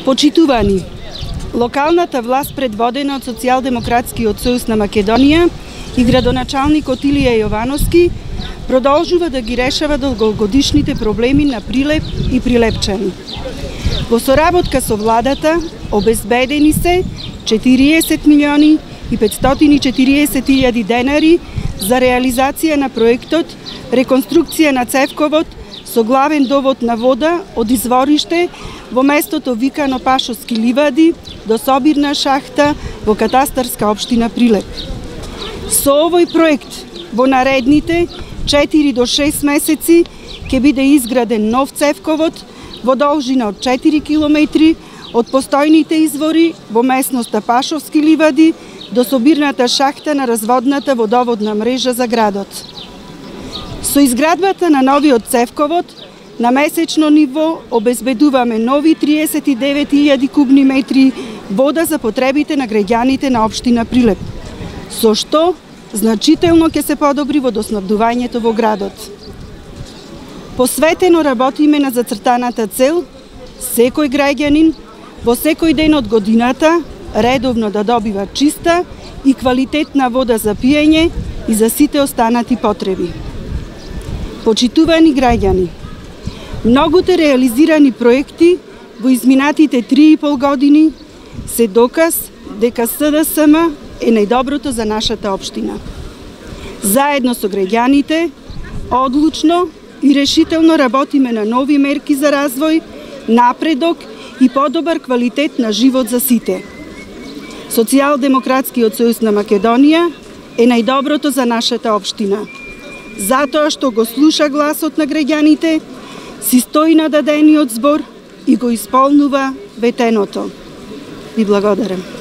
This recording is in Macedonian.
Почитувани, локалната власт предводена од Социјалдемократскиот сојуз на Македонија и градоначалникот Илија Јовановски продолжува да ги решава долгогодишните проблеми на Прилеп и Прилепчани. Во соработка со владата обезбедени се 40 милиони и 540 илјади денари за реализација на проектот реконструкција на цевковод со главен довод на вода од извориште во местото викано Пашовски ливади до собирна шахта во катастарска општина Прилеп. Со овој проект во наредните 4 до 6 месеци ќе биде изграден нов цевковод во должина од 4 километри од постојните извори во местноста Пашовски ливади до собирната шахта на разводната водоводна мрежа за градот. Со изградбата на новиот цевковод на месечно ниво обезбедуваме нови 39.000 кубни метри вода за потребите на граѓаните на општина Прилеп, со што значително ќе се подобри водоснабдувањето во градот. Посветено работиме на зацртаната цел секој граѓанин во секој ден од годината редовно да добива чиста и квалитетна вода за пиење и за сите останати потреби. Почитувани граѓани, многуте реализирани проекти во изминатите 3,5 години се доказ дека СДСМ е најдоброто за нашата општина. Заедно со граѓаните, одлучно и решително работиме на нови мерки за развој, напредок и подобар квалитет на живот за сите. Социјалдемократскиот сојуз на Македонија е најдоброто за нашата општина. Затоа што го слуша гласот на граѓаните, си стои на дадениот збор и го исполнува ветеното. Ви благодарам.